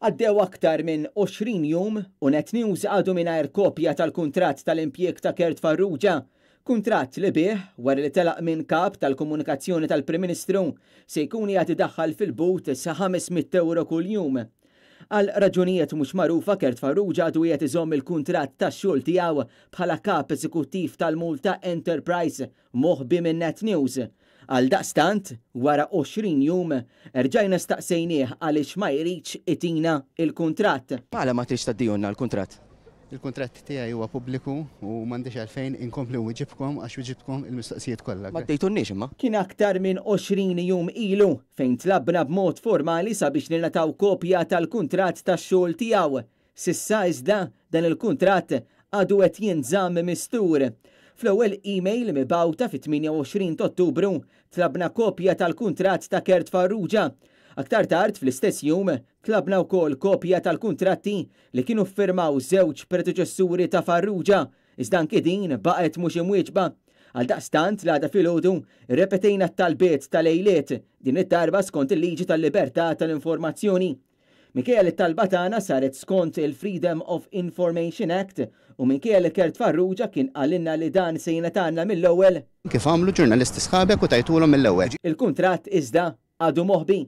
Għaddew aktar minn 20 jum u Net News għadu mingħajr kopja tal-kuntratt tal-impjieg ta' Kurt Farrugia. Kuntratt li bih, wara li telaq minn kap tal-komunikazzjoni tal-Prim Ministru, se jkun qiegħed idaħħal fil-but sa 500 euro kuljum. Għal raġunijiet mhux magħrufa, Kurt Farrugia għadu qiegħed iżomm il-kuntratt tax-xogħol tiegħu bħala kap eżekuttiv tal-Malta Enterprise moħbi minn Net News. Għaldaqstant, wara 20 jum, erġajna staqsejnieh għaliex ma jridx itina il-kuntratt. Għala ma tridx tgħaddihulna l-kuntratt? Il-kuntratt tiegħi huwa pubbliku u m'għandix għalfejn inkompli nwiġibkom għax wiġibtkom il-mistoqsijiet kollha. Ma ddejtunniex imma. Kien aktar minn 20 jum ilu fejn tlabna b'mod formali sabiex ningħataw kopja tal-kuntratt tax-xogħol tiegħu. S'issa iżda dan il-kuntratt għadu qed jinżamm mistur. Fl-ewwel email mibgħuta fit-28 ta' Ottubru tlabna kopja tal-kuntratt ta' Kurt Farrugia. Aktar tard fl-istess jum tlabna wkoll kopja tal-kuntratti li kienu ffirmaw żewġ predeċessuri ta' Farrugia, iżda anki din baqgħet mhux imwieġba. Għaldaqstant l-għada filgħodu rrepetejna t-talbiet tal-lejliet, din id-darba skont il-liġi tal-libertà tal-informazzjoni. Minkejja li t-talba tagħna saret skont il-Freedom of Information Act u minkejja li Kurt Farrugia kien qalilna li dan se jingħatalna mill-ewwel, Kif għamlu ġurnalisti sħabek u tajtulhom mill-ewwel. Il-kuntratt iżda għadu moħbi.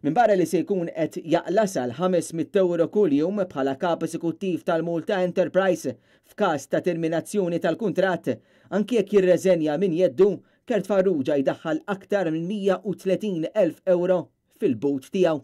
Minbarra li se jkun qed jaqla' sal 500 euro kuljum bħala kap eżekuttiv tal-Malta Enterprise f'każ ta' terminazzjoni tal-kuntratt, anki jekk jirreżenja minn jeddu, Kurt Farrugia jdaħħal aktar minn 130,000 euro fil-but tiegħu.